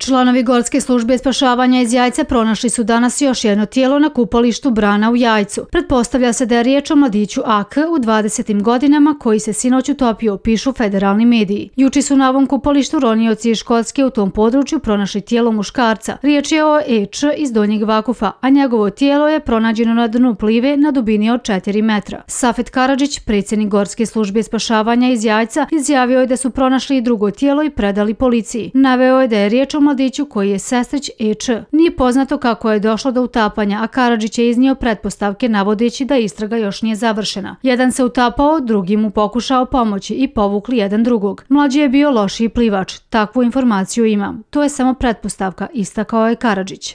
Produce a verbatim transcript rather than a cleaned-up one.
Članovi Gorske službe spašavanja iz Jajca pronašli su danas još jedno tijelo na kupalištu Brana u Jajcu. Pretpostavlja se da je riječ o mladiću A K u dvadesetim godinama koji se sinoć utopio, pišu federalni mediji. Juče su na ovom kupalištu ronioci iz Škotske u tom području pronašli tijelo muškarca. Riječ je o E Č iz Donjeg Vakufa, a njegovo tijelo je pronađeno na dnu plive na dubini od četiri metra. Safet Karadžić, predsjednik Gorske službe spašavanja iz Jajca, izjavio je da su pronašli i drugo tijelo i predali policiji. Naveo je da je riječ o mladiću koji je sestrić E Č. Nije poznato kako je došlo do utapanja, a Karadžić je iznio pretpostavke navodeći da istraga još nije završena. Jedan se utapao, drugi mu pokušao pomoći i povukli jedan drugog. Mlađi je bio lošiji plivač. Takvu informaciju imam. To je samo pretpostavka, istakao je Karadžić.